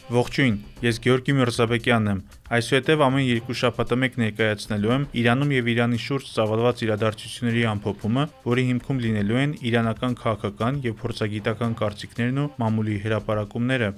Ողջույն, ես Գեորգի Միրզաբեկյանն եմ։ Այսուհետև ամեն երկու շաբաթը մեկ ներկայացնելու եմ Իրանում եւ Իրանի շուրջ ծավալված իրադարձությունների ամփոփումը, որի հիմքում լինելու են իրանական քաղաքական եւ փորձագիտական կարծիքներն ու մամուլի հրապարակումները։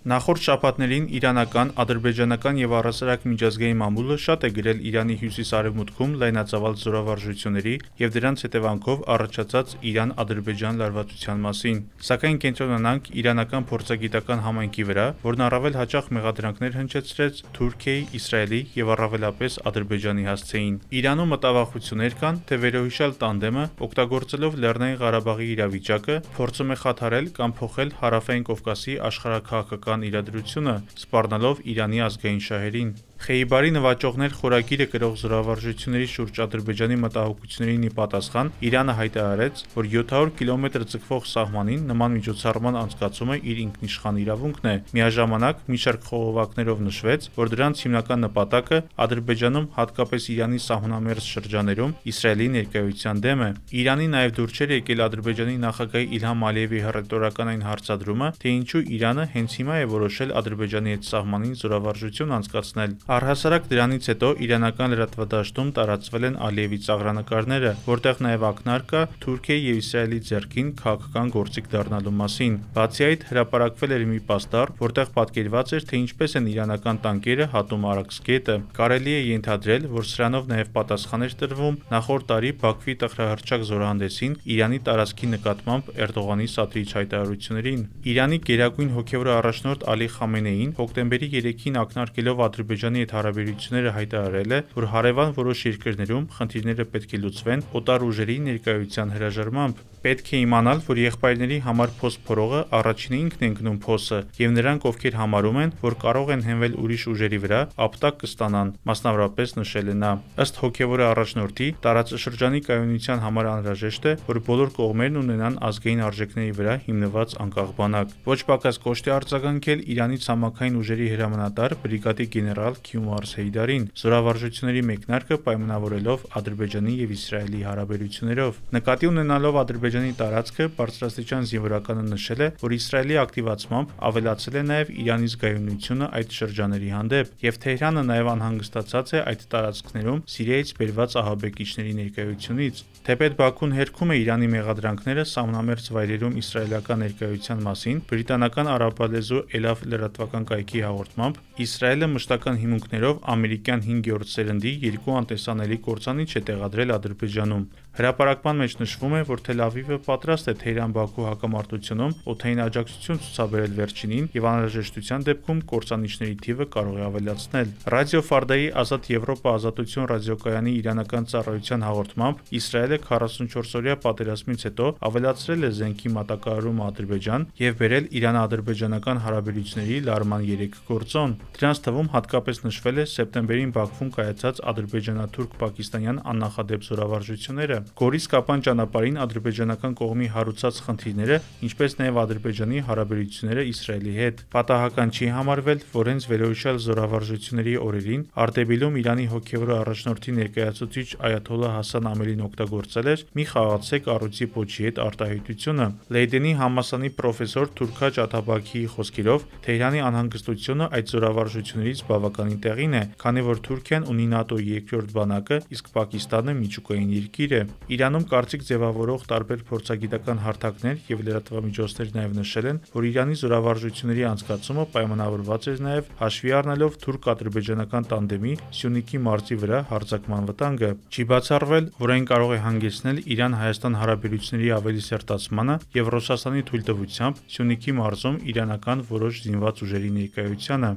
Նախորդ շաբաթներին իրանական, ադրբեջանական եւ առհասարակ միջազգային մամուլը շատ է գրել Իրանի հյուսիս-արևմուտքում լայնածավալ զորավարժությունների եւ դրանց հետևանքով առաջացած Իրան-Ադրբեջան լարվածության մասին։ Սակայն կենտրոնանանք իրանական փորձագիտական համայնքի վրա, որն առավել հաճախ մեղադրանքներ հնչեցրեց Թուրքիայի, Իսրայելի եւ առավելապես Ադրբեջանի հասցեին։ Իրանում մտավախություններ կան, թե վերոհիշյալ տանդեմը, օգտագործելով Լեռնային Ղարաբաղի իրավիճակը, փորձում է խաթարել կամ փոխել Հարավային Կովկասի աշխարհաքաղաքական իրադրությունը, սպառնալով Իրանի ազգային շահերին։ Խեյբարի նվաճողներ խորագիրը կրող զորավարժությունների շուրջ Ադրբեջանի մտահոգություններին ի պատասխան Իրանը հայտարարեց, որ 700 կիլոմետր ձգվող սահմանին նման միջոցառման անցկացումը իր ինքնիշխան իրավունքն է։ Միաժամանակ մի շարք խողովակներով նշվեց, որ դրանց հիմնական նպատակը Ադրբեջանում, հատկապես Իրանի սահմանամերձ շրջաներում Իսրայելի ներկայության դեմ է։ Իրանի նաև դուր չէր եկել Ադրբեջանի նախագահ Իլհամ Ալիևի հռետորական այն հարցադրումը, թե ինչու Իրանը հենց հիմա է որոշել Ադրբեջանի հետ սահմանին զորավարժություն անցկացնել։ Առհասարակ դրանից հետո իրանական լրատվադաշտում տարածվել են Ալիևի ծաղրանկարները, որտեղ նաև ակնարկ կա Թուրքիայի եւ Իսրայելի ձեռքին քաղաքական գործիք դառնալու մասին։ Բացի այդ, հրապարակվել էր մի պաստառ, որտեղ պատկերված էր, թե ինչպես են իրանական տանկերը հատում Արաքս գետը։ Կարելի է ենթադրել, որ սրանով նաև պատասխան էր տրվում նախորդ տարի Բաքվի տխրահռչակ զորահանդեսին Իրանի տարածքի նկատմամբ Էրդողանի սադրիչ հայտարարություններին։ Իրանի գերագույն հոգևոր առաջնորդ Ալի Խամենեին հոկտեմբերի 3-ին ակնարկելով Ադրբեջանի հետ հարաբերությունները հայտարարել է, որ հարևան որոշ երկրներում խնդիրները պետք է լուծվեն օտար ուժերի ներկայության հրաժարմամբ։ Պետք է իմանալ, որ եղբայրների համար փոս փորողը առաջինը ինքն է ընկնում փոսը, եւ նրանք, ովքեր համարում են, որ կարող են հենվել ուրիշ ուժերի վրա, ապտակ կստանան, մասնավորապես նշել է նա։ Ըստ հոգևոր առաջնորդի, տարածաշրջանի կայունության համար անհրաժեշտ է, որ բոլոր կողմերն ունենան ազգային արժեքների վրա հիմնված անկախ բանակ։ Ոչ պակաս կոշտ է արձագանքել Իրանի ցամաքային ուժերի հրամանատար բրիգադի գեներալ Քյումարս Հեյդարին, զորավարժությունների մեկնարկը պայմանավորելով Ադրբեջանի եւ Իսրայելի հարաբերություններով։ Նկատի ունենալով Ադրբեջանի տարածքը, բարձրաստիճան զինվորականը նշել է, որ Իսրայելի ակտիվացմամբ ավելացել է նաեւ Իրանի զգայունությունը այդ շրջաների հանդեպ, եւ Թեհրանը նաեւ անհանգստացած է այդ տարածքներում Սիրիայից բերված ահաբեկիչների ներկայությունից։ Թեպետ Բաքուն հերքում է Իրանի մեղադրանքները սահմանամերձ վայրերում իսրայելական ներկայության մասին, բրիտանական արաբալեզու Էլավ լրատվական կայքի հաղորդմամբ Իսրայելը մշտական հիմունքներով ամերիկյան 5-րդ սերնդի երկու անտեսանելի կործանիչ է տեղադրել Ադրբեջանում։ Հրապարակման մեջ նշվում է, որ Թել Ավիվը պատրաստ է Թեհրան-Բաքու հակամարտությունում օդային աջակցություն ցուցաբերել վերջինին եւ անհրաժեշտության դեպքում կործանիչների թիվը կարող է ավելացնել։ Ռադիո Ֆարդայի Ազատ Եվրոպա ազատություն ռադիոկայանի իրանական ծառայության հաղորդմամբ Իսրայելը 44-օրյա պատերազմից հետո ավելացրել է զենքի մատակարարումը Ադրբեջան եւ բերել Իրան-ադրբեջանական հարաբերությունների լարման 3 գործոն։ Դրանց թվում հատկապես նշվել է սեպտեմբերին Բաքվում կայացած ադրբեջանա-թուրք-պակիստանյան աննախադեպ զորավարժությունները։ Գորիս-Կապան ճանապարհին ադրբեջանական կողմի հարուցած խնդիրները, ինչպես նաև Ադրբեջանի հարաբերությունները Իսրայելի հետ։ Պատահական չի համարվել, որ հենց վերոհիշյալ զորավարժությունների օրերին Արտեբիլում Իրանի հոգևոր առաջնորդի ներկայացուցիչ Այաթոլլահ Հասան Ամելին օգտագործել էր մի խաղացեք առույցի պոչի հետ արտահայտությունը։ Լեյդենի համալսարանի պրոֆեսոր Թուրքաջ Աթաբաքիի խոսքերով Թեհրանի անհանգստությունը այդ զորավարժություններից բավականին տեղին է, քանի որ Թուրքիան ունի ՆԱՏՕ-ի երկրորդ բանակը, իսկ Պակիստանը միջուկային երկիր է։ Իրանում կարծիք ձևավորող տարբեր փորձագիտական հարթակներ եւ լրատվամիջոցներ նաեւ նշել են, որ Իրանի զորավարժությունների անցկացումը պայմանավորված էր նաեւ հաշվի առնելով թուրք-ադրբեջանական տանդեմի Սյունիքի մարզի վրա հարձակման վտանգը։ Չի բացառվել, որ այն կարող է հանգեցնել Իրան-Հայաստան հարաբերությունների ավելի սերտացմանը եւ Ռուսաստանի թույլտվությամբ Սյունիքի մարզում իրանական որոշ զինված ուժերի ներկայությանը։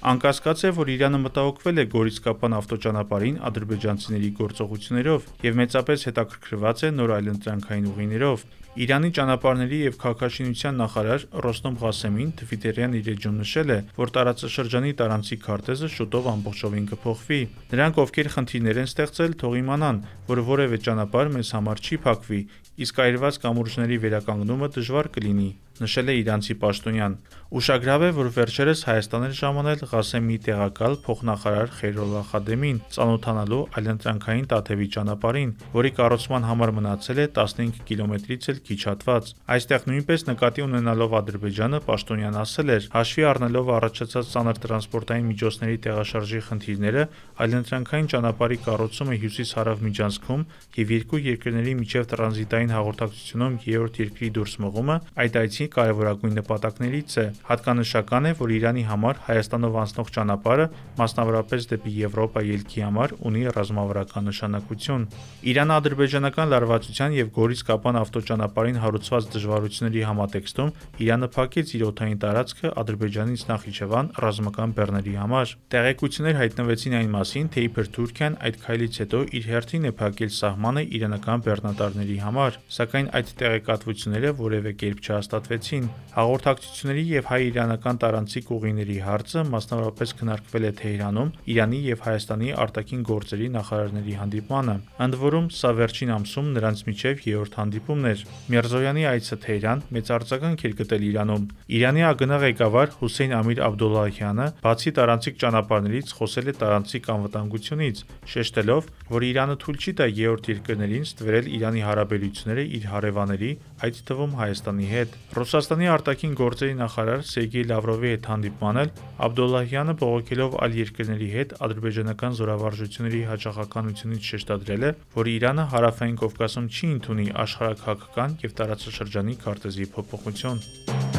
Անկասկած է, որ Իրանը մտահոգվել է Գորիս-Կապան ավտոճանապարհին ադրբեջանցիների գործողություններով եւ մեծապես հետաքրքրված է նոր այլընտրանքային ուղիներով։ Իրանի ճանապարհների եւ քաղաքաշինության նախարար Ռոստոմ Ղասեմին Թվիտերյան իր էջում նշել է, որ տարածաշրջանի տարանցի քարտեզը շուտով ամբողջովին կփոխվի։ Նրանք, ովքեր խնդիրներ են ստեղծել, թող իմանան, որ որևէ ճանապարհ մեզ համար չի փակվի, իսկ այրված կամուրջների վերականգնումը դժվար կլինի, նշել է իրանցի պաշտոնյան։ Ուշագրավ է, որ վերջերս Հայաստան էր ժամանել Ղասեմի տեղակալ փոխնախարար Խեյրոլլահ Խադեմին ծանոթանալու այլընտրանքային Տաթևի ճանապարհին, որի կառուցման համար մնացել է 15 կիլոմետրից էլ քիչ հատված։ Այստեղ նույնպես նկատի ունենալով Ադրբեջանը, պաշտոնյան ասել էր, հաշվի առնելով առաջացած ծանր տրանսպորտային միջոցների տեղաշարժի խնդիրները, այլընտրանքային ճանապարհի կառուցումը հյուսիս-հարավ միջանցքում եւ երկու երկրների միջև տրանզիտային հաղորդակցությունում երրորդ երկրի դուրս մղումը այդ այցի կարևորագույն նպատակներից է։ Հատկանշական է, որ Իրանի համար Հայաստանով անցնող ճանապարհը, մասնավորապես դեպի Եվրոպա ելքի համար, ունի ռազմավարական նշանակություն։ Իրան-ադրբեջանական լարվածության եւ Գորիս-Կապան ավտոճանապարհին հարուցված դժվարությունների համատեքստում Իրանը փակեց իր օդային տարածքը Ադրբեջանից Նախիջևան ռազմական բեռների համար։ Տեղեկություններ հայտնվեցին այն մասին, թե իբր Թուրքիան այդ քայլից հետո իր հերթին է փակել սահմանը իրանական բեռնատարների համար, սակայն այդ տեղեկատվությունները որևէ կերպ չհաստատվեցին։ Հաղորդակցությունների եւ հայ-իրանական տարանցիկ ուղիների հարցը մասնավորապես քննարկվել է Թեհրանում Իրանի եւ Հայաստանի արտաքին գործերի նախարարների հանդիպմանը։ Ընդ որում, սա վերջին ամսում նրանց միջև երրորդ հանդիպումն էր։ Միրզոյանի այցը Թեհրան մեծ արձագանք էր գտել Իրանում։ Իրանի ԱԳՆ ղեկավար Հուսեյն Ամիր Աբդոլլահյանը բացի տարանցիկ ճանապարհներից խոսել է տարանցիկ անվտանգությունից, շեշտելով, որ Իրանը թույլ չի տա երրորդ երկրներին ստվերել Իրանի հարաբերությունները իր հարևանների, այդ թվում Հայաստանի հետ։ Ռուսաստանի արտաքին գործերի նախարար Սերգեյ Լավրովի հետ հանդիպման էլ Աբդոլլահյանը բողոքելով այլ երկրների հետ ադրբեջանական զորավարժությունների հաճախականությունից շեշտադրել է, որ Իրանը Հարավային Կովկասում չի ընդունի աշխարհաքաղաքական եւ տարածաշրջանի քարտեզի փոփոխություն։